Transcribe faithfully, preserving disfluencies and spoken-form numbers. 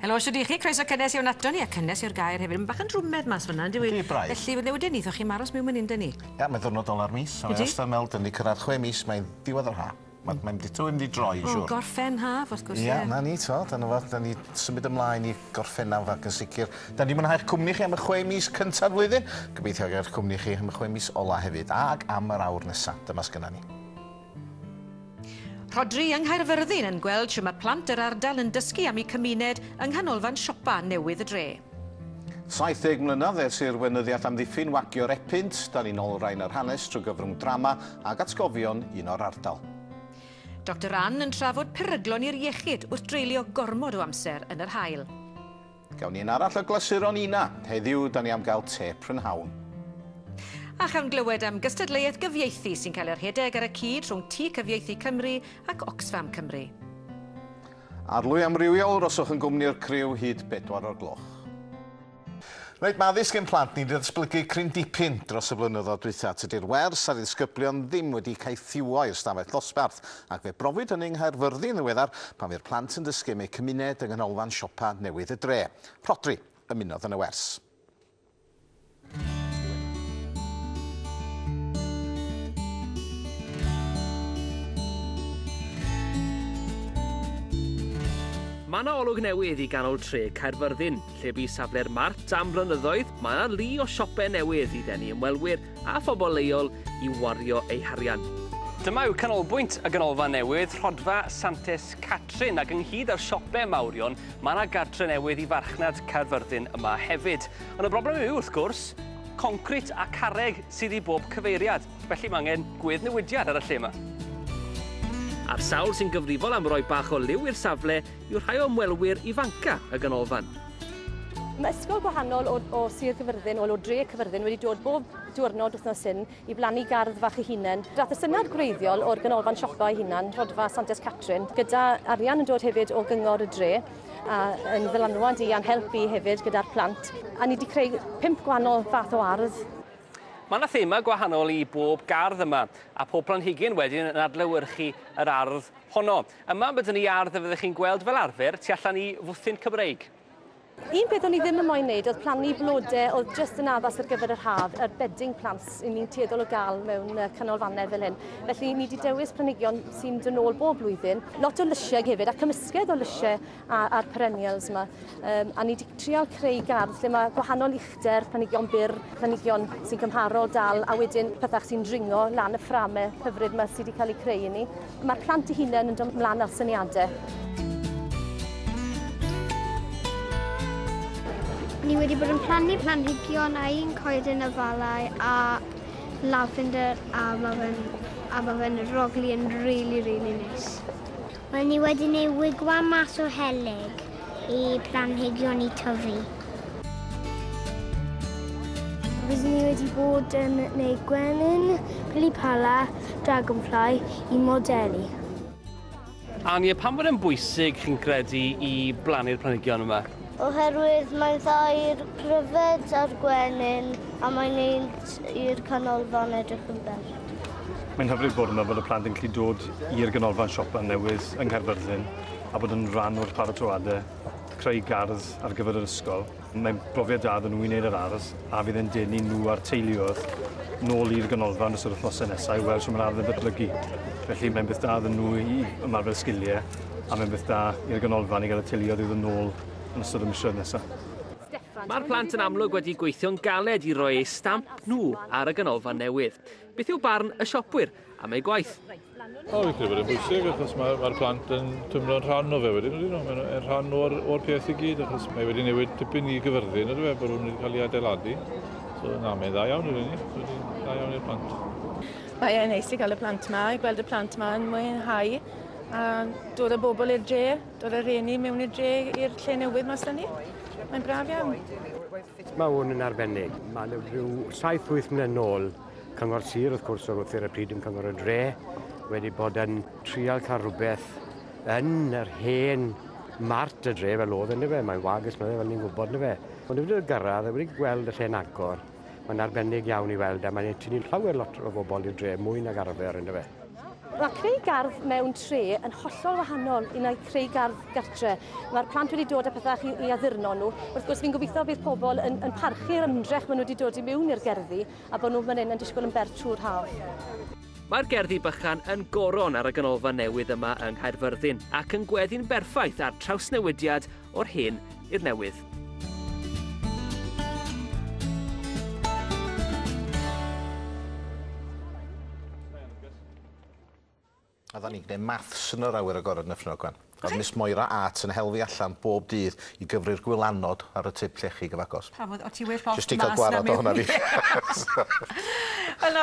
Helo, shwd i chi? Croeso cynnes iawn ato ni, a cynnes yw'r gair hefyd. Mae'n bach yn drwmed mas fyna, yndyw i? Ydy, braidd. Felly, wedyn ni, chi maros mewn mynd ni. Ia, mae'n ddwrnod ola'r mis. Ydy? Mae'n ystod dyn ni cyrraedd chwe mis, mae'n diwedd yr ha. Mae'n mynd i mynd i droi, siŵr. O, gorffen haf, wrth gwrs. Ia, na ni, to. Da ni symud ymlaen i gorffennaf ac yn sicr. Da ni mwynhau'ch cwmni chi am y chwe mis cynta'r flwyddyn. Gobeithio gael cwmni chi am y chwe mis ola hefyd, ac am yr awr nesaf. Dyma sgynna ni. Rhodri yng Nghaerfyrddin yn gweld shwt mae plant yr ardal yn dysgu am eu cymuned yng nghanolfan siopa newydd y dre. saith deg mlynedd ers i'r weinyddiaeth amddiffyn wagio'r Epynt, da ni'n olrhain yr hanes trwy gyfrwng drama ac atgofion un o'r ardal. Doctor Ann yn trafod peryglon i'r iechyd wrth dreulio gormod o amser yn yr haul. Gawn ni un arall o glasuron Ina. Heddiw, da ni am gael te prynhawn. A chawn glywed am gystadleuaeth gyfieithu sy'n cael ei rhedeg ar y cyd rhwng Tŷ Cyfieithu Cymru ac Oxfam Cymru. Arlwy amrywiol, roswch yn gwmni'r criw hyd bedwar o'r gloch. Reit, mae addysg ein plant ni wedi datblygu cryn dipyn dros y blynyddoedd dwytha. Tydi'r wers a'r ddisgyblion ddim wedi caethiwo i'r stafell ddosbarth, ac fe brofwyd hynny yng Nghaerfyrddin ddiweddar pan fu'r plant yn dysgu am eu cymuned yng nghanolfan siopa newydd y dre. Rhodri ymunodd yn y wers. Mae yna olwg newydd i ganol tre Caerfyrddin, lle bu safle'r mart am blynyddoedd, mae yna lu o siopau newydd i ddenu ymwelwyr a phobl leol i wario eu harian. Dyma yw canolbwynt y ganolfan newydd, Rhodfa Santes Catrin, ac ynghyd â'r siopau mawrion, mae yna gartre newydd i farchnad Caerfyrddin yma hefyd. Ond y broblem yw, wrth gwrs, concrit a carreg sydd i bob cyfeiriad, felly mae angen gweddnewidiad ar y lle yma. A'r sawl sy'n gyfrifol am roi bach o liw i'r safle yw rhai o ymwelwyr ifanca y ganolfan. Mae ysgol gwahanol o, o Sir Gyfyrddin, o, o dre Cyfyrddin, wedi dod bob diwrnod wythnos hyn i blannu gardd fach eu hunain. Dath y syniad gwreiddiol o'r ganolfan siopa ei hunan, Rhodfa Santes Catrin, gyda arian yn dod hefyd o gyngor y dre, a yn ddylanwad i a'n helpu hefyd gyda'r plant. A ni wedi creu pump gwahanol fath o ardd. Mae yna thema gwahanol i bob gardd yma, a pob planhigyn wedyn yn adlewyrchu yr ardd honno. Yma byddwn ni ardd y fyddwch chi'n gweld fel arfer tu allan i fwthyn Cymreig. Un peth o'n i ddim yn moyn wneud oedd plannu blodau oedd jyst yn addas ar gyfer yr haf, yr bedding plants i ni'n tueddol o gael mewn canolfannau fel hyn. Felly ni wedi dewis planhigion sy'n dod nôl bob blwyddyn, lot o lysiau hefyd, a cymysgedd o lysiau a'r perennials yma. Um, a ni wedi trial creu gardd lle mae gwahanol uchder, planhigion byr, planhigion sy'n cymharol dal, a wedyn pethau sy'n dringo lan y fframau hyfryd yma sydd wedi cael eu creu i ni. Mae'r plant eu hunain yn dod mlaen ar syniadau. Ni wedi bod yn plannu planhigion a un coeden afalau a lavender a mae fe'n a ma fe'n rogli yn really, really neis. Wel, ni wedi gwneud wigwam mas o helyg i planhigion i tyfu. Fyswn ni wedi bod yn gwneud gwenyn, pili-pala, dragonfly i modelu. Ania, pam bod e'n bwysig chi'n credu i blannu'r planhigion yma? Oherwydd mae'n dda i'r pryfed a'r gwenyn a mae'n neud i'r canolfan edrych yn bell. Mae'n hyfryd bod yma bod y plant yn gallu dod i'r ganolfan siopa newydd yng Nghaerfyrddin a bod yn rhan o'r paratoadau, creu gardd ar gyfer yr ysgol. Mae'n brofiad da iddyn nhw i wneud yr ardd a fydd yn denu nhw a'r teuluoedd nôl i'r ganolfan ystod yr wythnosau nesaf i weld sut mae'r ardd yn datblygu. Felly mae'n beth da iddyn nhw i ymarfer sgiliau a mae'n beth da i'r ganolfan i gael y teuluoedd i ddod nôl yn ystod y misoedd nesaf. Mae'r plant yn amlwg wedi gweithio'n galed i roi eu stamp nhw ar y ganolfan newydd. Beth yw barn y siopwyr am eu gwaith? O, fi'n credu bod e'n bwysig achos mae'r mae plant yn teimlo'n rhan o fe wedyn, ydyn nhw? Mae'n rhan o'r, o'r peth i gyd achos mae wedi newid tipyn i Gyfyrddin, ydw e, bod nhw'n wedi cael ei adeiladu. So na, mae'n dda iawn ydyn ni, dda iawn i'r plant. Mae e'n neis i gael y plant yma, i gweld y plant yma yn mwynhau a dod â bobl i'r dre, dod â rhieni mewn i'r dre i'r lle newydd mas 'da ni. Mae'n braf iawn. Mae hwn yn arbennig. Mae rhyw saith wyth mlynedd nôl, Cyngor Sir, wrth gwrs, oedd wrth ar y pryd yn Cyngor y Dre, wedi bod yn trial cael rhywbeth yn yr hen mart y dre fel oedd ynddo fe. Mae'n wag ers mlynedd fel ni'n gwybod ynddo fe. Ond wedi gyrraedd, wedi gweld y lle'n agor. Mae'n arbennig iawn i weld a mae'n tynnu llawer lot o bobl i'r dre, mwy nag arfer ynddo fe. Mae creu gardd mewn tre yn hollol wahanol i na creu gardd gartre. Mae'r plant wedi dod â pethau i, i addurno nhw. Wrth gwrs, fi'n gobeithio bydd pobl yn, yn parchu'r ymdrech maen nhw wedi dod i mewn i'r gerddi a bod nhw fan hyn yn disgwyl yn bert trwy'r haf. Mae'r gerddi bychan yn goron ar y ganolfan newydd yma yng Nghaerfyrddin ac yn gweddi'n berffaith ar trawsnewidiad o'r hen i'r newydd. Oedden ni'n gwneud maths yn yr awyr agored yn Nyffryn Ogwen. Oedd Miss Moira Art yn hel fi allan bob dydd i gyfri'r gwylanod ar y tip llechi gyfagos. Pam, o ti well off Jyst i cael gwarad o hwnna fi. Wel,